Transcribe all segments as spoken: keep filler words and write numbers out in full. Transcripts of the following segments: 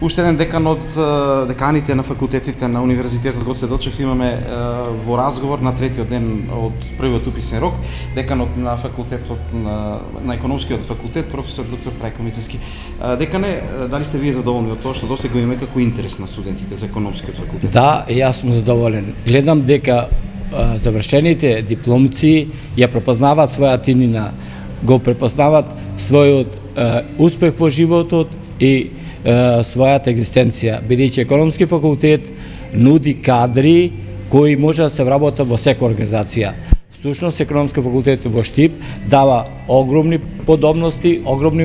Уште еден декан од деканите на факултетите на Универзитетот Гоце Делчев имаме во разговор на третиот ден од првиот уписен рок, деканот на факултетот на, на економскиот факултет, професор доктор Трајко Мицевски. Декане, дали сте вие задоволни од тоа што досега имаме како интерес на студентите за економскиот факултет? Да, јас сум задоволен. Гледам дека а, завршените дипломци ја препознаваат својата иднина, го препознаваат својот а, успех во животот и својата екзистенција, бидејќи економски факултет нуди кадри кои може да се вработат во секоја организација. Всушност, економски факултет во Штип дава огромни подобности, огромни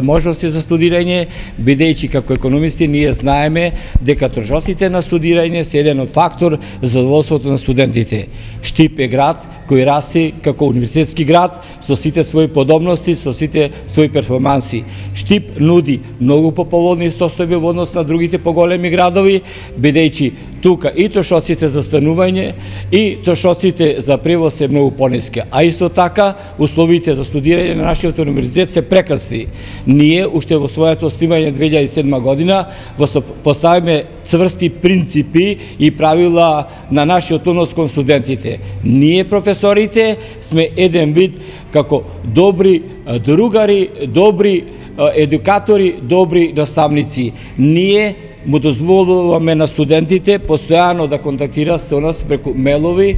можности за студирање, бидејќи како економисти ние знаеме дека трошоците на студирање се еден од фактор за задоволството на студентите. Штип е град кој расти како универзитетски град со сите своји подобности, со сите своји перформанси. Штип нуди многу поповолни состојби во однос на другите поголеми градови, бидејќи тука и трошоците за станување и трошоците за превоз се многу пониски, а исто така условите за студирање на нашиот универзитет се прекрасни. Ние уште во своето основање две илјади и седма година поставиме цврсти принципи и правила на нашиот однос кон студентите. Ние професорите сме еден вид како добри другари, добри едукатори, добри наставници. Ние му дозволуваме на студентите постојано да контактираат со нас преку мелови,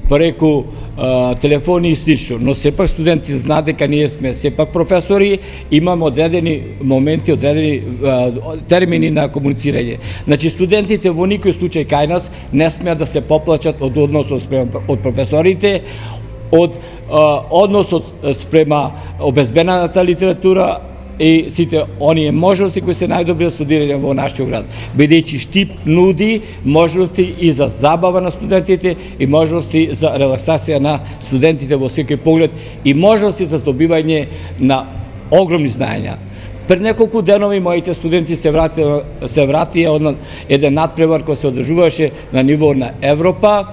преку а, телефони и слично, но сепак студентите знаат дека ние сме сепак професори, имаме одредени моменти, одредени а, термини на комуницирање. Значи студентите во никој случај кај нас не смеат да се поплачат од односот спрема од професорите, од а, односот спрема обезбедената литература и сите оние можности кои се најдобри за студирање во нашиот град, бидејќи Штип нуди можности и за забава на студентите и можности за релаксација на студентите во секој поглед и можности за здобивање на огромни знаења. Пред неколку денови моите студенти се вратија се вратија од еден надпревар кој се одржуваше на ниво на Европа,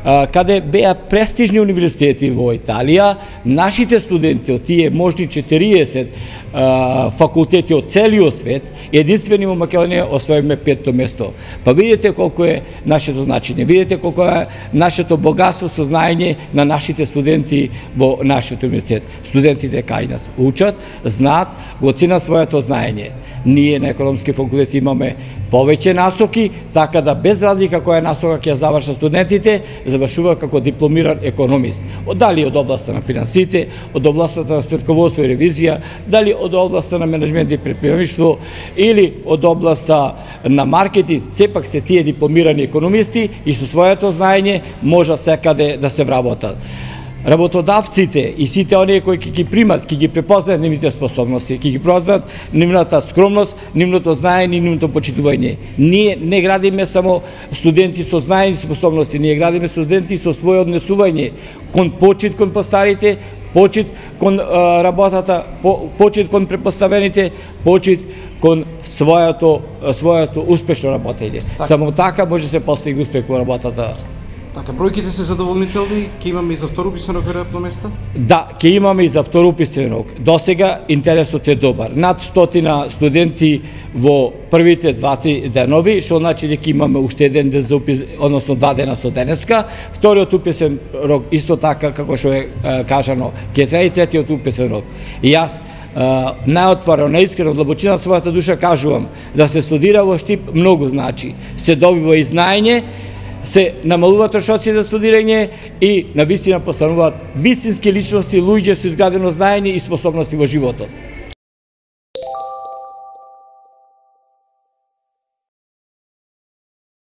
каде беа престижни универзитети во Италија. Нашите студенти од тие можни четириесет факултети од целиот свет, единствени во Македонија освоиме петто место. Па видите колку е нашето значење, видите колку е нашето богатство со знаење на нашите студенти во нашиот универзитет. Студентите кај нас учат, знаат, го ценат своето знаење. Ние на економски факултет имаме повеќе насоки, така да без разлика која насока ќе завршат студентите, завршува како дипломиран економист. Дали од областа на финансите, од областа на спретководство и ревизија, дали од областа на менеджмент и предприемништво или од областа на маркетинг, сепак се тие дипломирани економисти и со своето знаење може секаде да се вработат. Работодавците и сите оние кои ќе ги примат, ќе ги препознаат нивните способности, ќе ги препознаат нивната скромност, нивното знаење и нивното почитување. Ние не градиме само студенти со знаење и способности, ние градиме студенти со своје однесување кон почит кон постарите, почит кон а, работата, по, почит кон препоставените, почит кон своето своето успешно работење. Так. Само така може се постигне успех во работата. Така, бројките се задоволнителни, ќе имаме и за втор уписен рок веројатно места? Да, ќе имаме и за втор уписен рок. Досега интересот е добар. Над стотина студенти во првите двати денови, што значи дека имаме уште еден ден за упис, односно два дена со денеска. Вториот уписен рок исто така како што е кажано, ќе трае и третиот уписен рок. И јас најотворено, наискрено, од длабочина својата душа кажувам да се студира во Штип многу значи. Се добива и знаење, се намалуваат трошоци за студирање и на вистина постануваат вистински личности, луѓе со изградено знаење и способности во животот.